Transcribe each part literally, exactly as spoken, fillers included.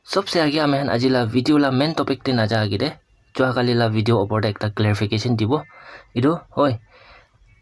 Sobse age ami khan aji la video la main topic te naja age de, jua kali la video opor te ekta clarification dibo. Etu hoi,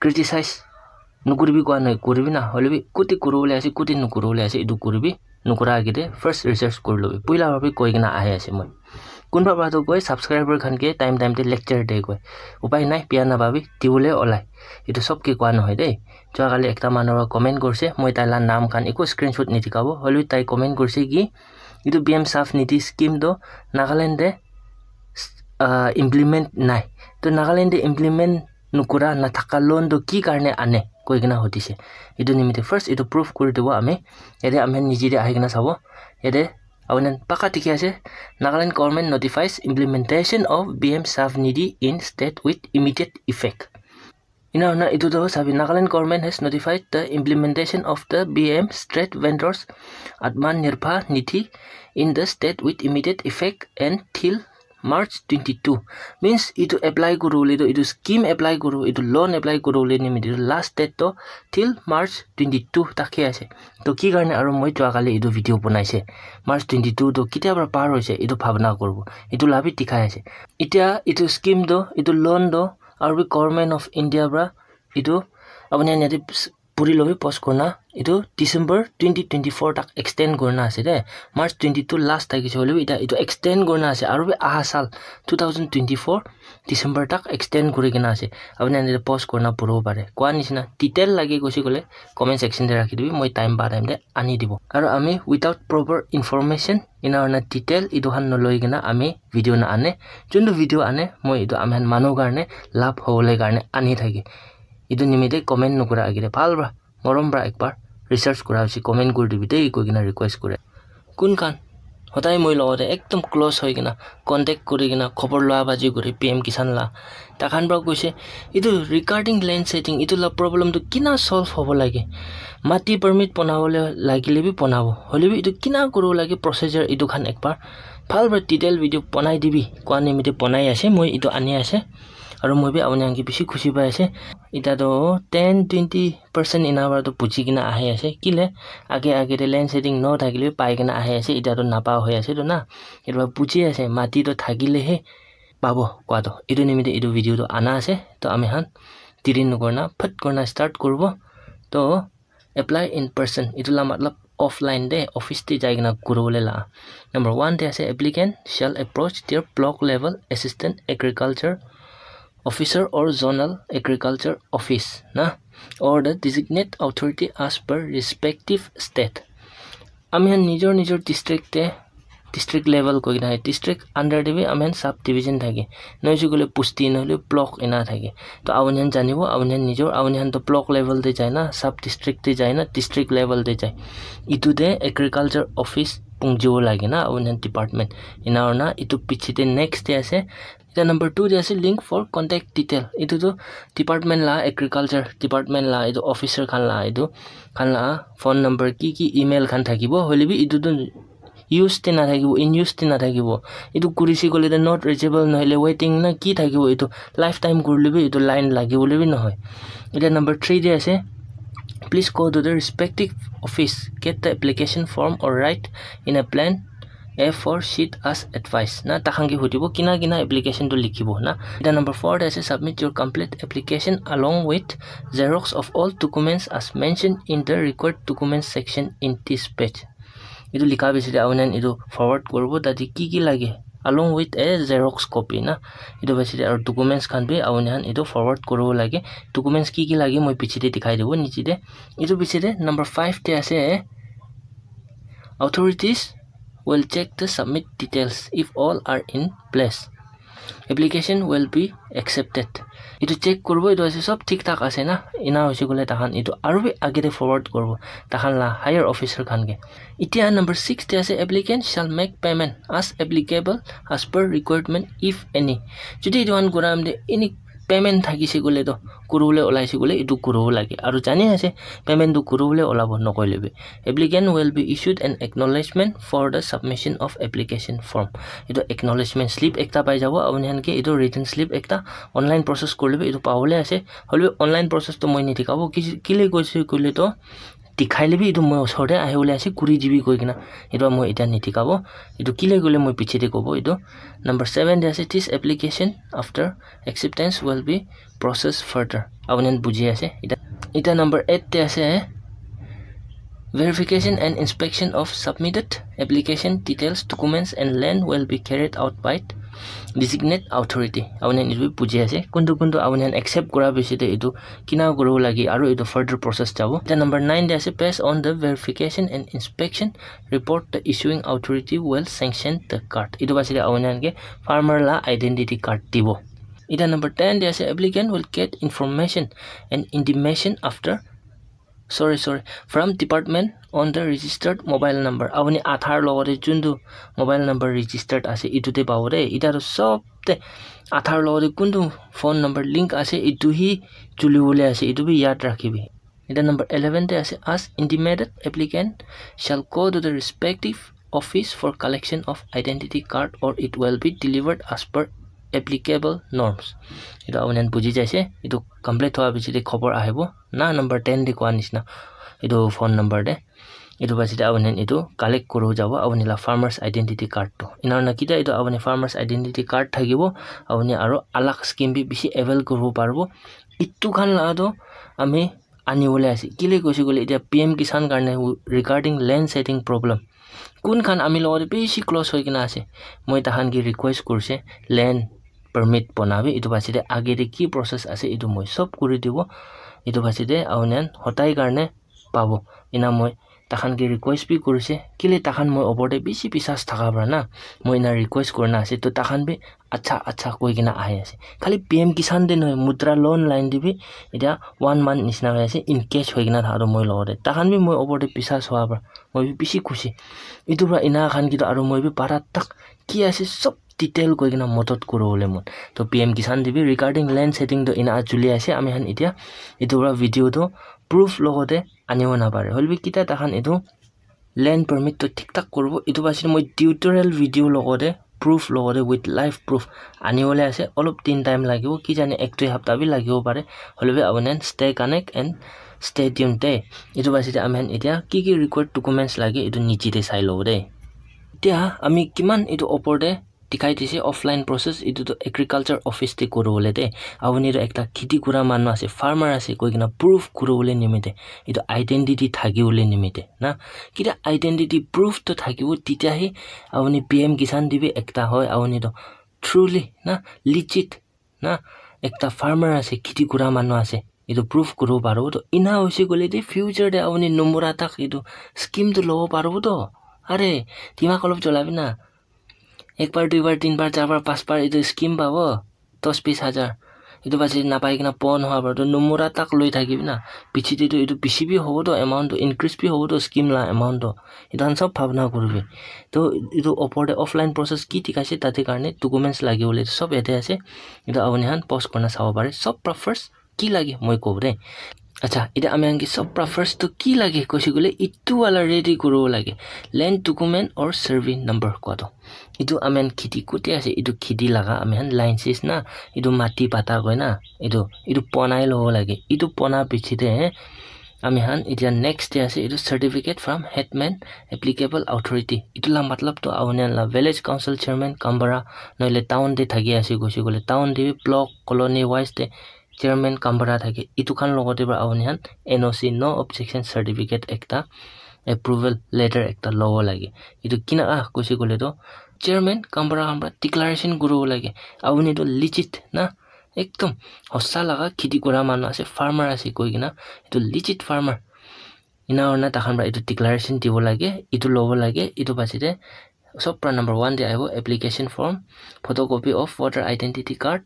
criticize nukuribi koa nai, kuribi na, hoilebi kuti kuribole ase, kuti nukuribole ase, etu kuribi, nukura age de first research kuri lobi. Puila para bi koi kena ahi ase moi. Kunba para toh koi subscriber khan ke time time te lecture de koi. Upai nai, bia na bhabi dibole olai. Etu sob ke koa nohoi de. Jua kali ekta manu para comment kurse, moi tai la naam khan eku screenshot nidikabo, hoilebi tai comment kurse ki, etu P M SAFNIDHI scheme toh Nagaland te, ah, implement nai. Toh Nagaland te implement nukura nathaka loan toh ki karne ane koi kena hudise. Etu nimite first etu proof kuri dibo ami. Yate ami khan niche te ahi kena sabo. Yate apuni khan paka dikhi ase, Nagaland government notifies implementation of P M SAFNIDHI in state with immediate effect. Ena hoina etu toh sabi, Nagaland government has notified the implementation of the P M Street Vendors Atmanirbhar Nidhi in the state with immediate effect and till March twenty-two. Means etu apply kuru bole toh, etu scheme apply kuru, etu loan apply kuru bole nimite last date toh till March twenty-two tak he ase. Toh ki karne aru moi jua kali etu video banai se, March twenty-two toh ketia para par hoise etu bhabna kuribo, etu la bi dikhai ase. Etia etu scheme toh, etu loan toh aru bi Government of India para etu apuni khan yate puri lobi post kurina etu December twenty twenty-four tak extend kurina ase de. March twenty-two last thakise hoilebi etia etu extend kurina ase aru bi aha sal two thousand twenty-four December tak extend kuri kena ase. Apuni khan yate post kurina puribo pare. Koa nishina detail lage koise koile comment section te rakhi dibi, moi time pa time te ani dibo. Aru ami without proper information ena hoina detail etu khan noloi kena ami video na ane. Juntu video ane, moi etu ami khan manu karne lab hobole karne ani thake. Etu nimite comment nukura agite bhal para, morom para ekbar research kura hoise comment kuri dibi de koi kena request kure. Kun khan hodai moi logote ekdom close hoi kena contact kuri kena khobor loa baji kuri P M Kisan la, takhan para koise etu regarding land shedding etu la problem tu kina solve hobo lage, mati permit bonabole lagile bi bonabo, hoilebi etu kina kuribo lage procedure etu khan ekbar bhal para detail video bonai dibi koa nimite bonai ase, moi etu ani ase. Aru moi bi apuni khan ke bishi khushi pai ase. Eta toh ten twenty percent ena para toh buji kena ahi ase. Kile age age te land shedding no thakile bi pai kena ahi ase. Eta toh napa hoi ase toh na. Etu para buji ase, mati toh thakile he pabo koa toh. Etu nimite etu video toh ana ase. Toh ami khan diri nokurina phat kurina start kuribo. Toh apply in person. Etu la matlab offline de, office te jai kena kuribole la. Number one te ase, applicant shall approach their block level assistant agriculture officer or zonal agriculture office na, or the designate authority as per respective state. Ami khan nijor nijor district te, district level koi kena district under te bi ami khan sub division thake, noise koile pusti nohole block ena thake. To apuni khan janibo, apuni khan nijor, apuni khan to block level te jai na, sub district te jai na, district level te jai. Etu te agriculture office pungjibo lage na apuni khan department. Ena hoina etu piche te next te ase, eta number two te ase, link for contact detail. Etu tu department la, agriculture department la, etu officer khan la, etu khan la phone number, ki ki email khan thakibo, hoile bi etu tu use te nathakibo, in use te nathakibo. Etu kurise koile tu not reachable nohole waiting na ki thakibo, etu lifetime kurile bi etu line lagibole bi nohoi. Eta number three te ase, please go to the respective office, get the application form or write in a plan A four sheet as advice. Na, takhan ke hudibo, kina kina application tu likhibo na. Eta number four te ase, submit your complete application along with xerox of all documents as mentioned in the required documents section in this page. Etu likha piche te apuni khan etu forward kuribo, tate ki ki lage, along with a xerox copy na. Etu piche te aru documents khan bi apuni khan etu forward kuribo lage. Documents ki ki lage moi piche te dikhai dibo niche te. Etu piche te number five te ase, authorities will check the submit details. If all are in place, application will be accepted. Etu check kuribo, etu ase sob thik thak ase na, ena hoise koile takhan etu aru bi age te forward kuribo takhan la higher officer khan ke. Etia number six te ase, applicant shall make payment as applicable as per requirement if any. Jodi etu khan kura time te any payment thakise koile to, kuribole olaise koile etu kuribo lage. Aru jani ase, payment tu kuribole olabo nokoile bi. Applicant will be issued an acknowledgement for the submission of application form. Etu acknowledgement slip ekta pai jabo apuni khan ke, etu written slip ekta online process kurile bi etu pabole ase. Hoile bi online process tu moi nidikhabo, ki-, kile koise koile to dikhai lebi etu moi osor te ahi bole ase, kuri dibi koi kena. Etu moi eta nidikha bo. Etu kile koile moi piche te kobo etu. Number seven te ase, this application after acceptance will be processed further. Apuni khan buji ase. Eta, eta number eight te ase, verification and inspection of submitted application details, documents and land will be carried out by designate authority. Apuni khan etu bi buji ase. Kuntu kuntu apuni khan accept kura piche te etu kina kuribo lage aru etu further process jabo. Eta number nine te ase, based on the verification and inspection report, the issuing authority will sanction the card. Etu piche te apuni khan ke farmer la identity card dibo. Eta number ten te ase, applicant will get information and intimation after, sorry, sorry, from department on the registered mobile number. Apuni Aadhaar logote juntu mobile number registered ase, etu te pabo de. Eta toh sob te Aadhaar logote kuntu phone number link ase, etu hi chuli bole ase, etu bi yad rakhibi. Eta number eleven te ase, as intimated, applicant shall go to the respective office for collection of identity card or it will be delivered as per applicable norms. Etu apuni khan buji jaise, etu complete hoa piche te khobor ahibo na, number ten te koa nishina, etu phone number te. Etu piche te apuni khan etu collect kuri jabo apuni la farmer's identity card tu. Ena hoina kitia etu apuni farmer's identity card thakibo, apuni aru alag scheme bi bishi avail kuribo paribo. Etu khan la tu ami ani bole ase. Kile koise koile etia P M Kisan karne regarding land setting problem, kun khan ami logote bishi close hoi kena ase, moi tahan ke request kurise land permit bonabi. Etu piche te age te ki process ase, etu moi sob kuri dibo. Etu piche te apuni khan hotai karne pabo. Ena moi tahan ke request bi kurise, kile tahan moi opor te bishi biswas thaka para na, moi ena request kurina ase, to tahan bi acha acha koi kena ahi ase. Khali P M Kisan te nohoi, Mudra Loan line te bi etia one month nishina hoi ase, engage hoi kena thaka toh moi logote. Tahan bi moi opor te biswas hoa para moi bi bishi khushi. Etu para ena khan ke toh aru moi bi para tak ki ase sob detail koi kena modot kuri bole mon. To P M Kisan te bi regarding land setting to ena chuli ase, ami khan etia etu para video to proof logote anibo napare. Hoile bi kitia tahan etu land permit to thik thak kuribo. Etu piche te moi tutorial video logote proof logote with live proof ani bole ase. Olop din time lagibo, ki jane ek dui hapta bi lagibo pare. Hoile bi apuni khan stay connect and stay tuned de. Etu piche te ami khan etia ki ki required documents lage, etu niche te sai lobo de. Etia ami kiman etu opor te dikhai dise offline process, etu tu agriculture office te kuri bole de. Apuni tu ekta kheti kura manu ase, farmer ase koi kena proof kuri bole nimite, etu identity thaki bole nimite na, kitia identity proof to thakibo, tetia hi apuni P M Kisan te bi ekta hoi, apuni tu truly na legit na ekta farmer ase, kheti kura manu ase, etu proof kuribo paribo. To ena hoise koile de future te apuni numura tak etu scheme tu lobo paribo to. Are, dimag olop cholabi na. Ek bar, dui bar, tin bar, char bar, panch bar etu scheme pabo, dos bis hajar. Etu piche te napai kena pon hoa para to numura tak loi thakibi na. Piche te to etu bishi bi hobo to, amount to increase bi hobo to, scheme la amount to. Etu khan sob bhabna kuribi. To etu opor te offline process ki dikhaise tate karne documents lage bole sob yate ase. Etu apuni khan pause kurina sabo pare. Sob para first ki lage moi kobo de. Acha, etia ami khan ke sob para first to ki lage koise koile etu wala ready kuribo lage, land document or survey number koa to. Etu ami khan kheti kote ase, etu kheti laga ami khan line sis na, etu mati pata koi na, etu, etu bonai lobo lage. Etu bona piche te, eh, ami khan etia next te ase, etu certificate from headman applicable authority. Etu la matlab to apuni khan la village council chairman Gaonbura nohole town te thaki ase koise koile, town te bi block colony wise te chairman Gaonbura thake, etu khan logote para apuni khan N O C, no objection certificate ekta, approval letter ekta lobo lage. Etu kina ah koise koile to chairman Gaonbura khan para declaration kuribo lage, apuni to legit na, ekdom hosa laga kheti kura manu ase, farmer ase koi kena, etu legit farmer. Ena hoina takhan para etu declaration dibo lage, etu lobo lage, etu piche te sob para number one te ahibo, application form, photocopy of voter identity card,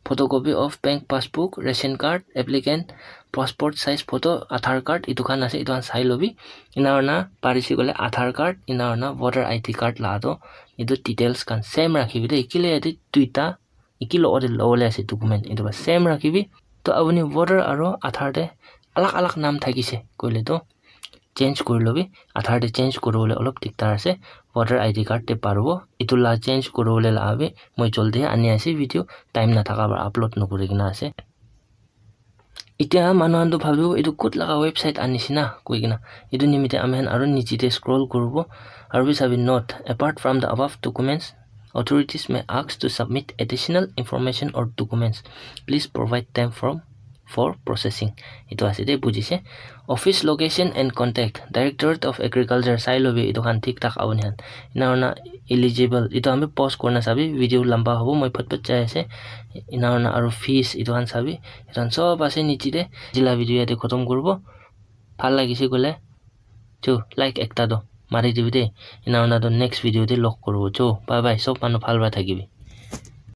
photocopy of bank passbook, ration card, applicant passport size photo, Aadhaar card, etu khan ase, etu khan sai lobi. Ena hoina parise koile Aadhaar card, ena hoina voter I D card la to, etu details khan same rakhibi de, kile yate duita eki logote lobole ase document, etu para same rakhibi. To apuni voter aro Aadhaar te alag alag naam thakise koile to change kuri lobi. Aadhaar te change kuri bole olop diktar ase. Voter I D card te paribo. Etu la change kuri bole la bi moi jaldi ani ase, video time nathaka para upload nokuri kena ase. Itya manu khan tu bhabibo etu kot laga website anishina koi kena. Etu nimite ami khan aro niche te scroll kuribo. Aro bi sabi note, apart from the above documents, authorities may ask to submit additional information or documents. Please provide them from for processing. Etu ase de bujise. Office location and contact, Directorate of Agriculture, sai lobi etu khan thik thak abo nihan. Ena hoina eligible, etu khan bi pause kurina sabi, video lamba hobo, moi phot phot jai ase. Ena hoina aro fees etu khan sabi, etu khan sob ase niche de. Ajila video yate khotom kuribo. Bhal lagise koile chu like ekta do mari dibi de. Ena hoina to next video de log kuribo chu. Bye bye, sob manu bhal para thakibi.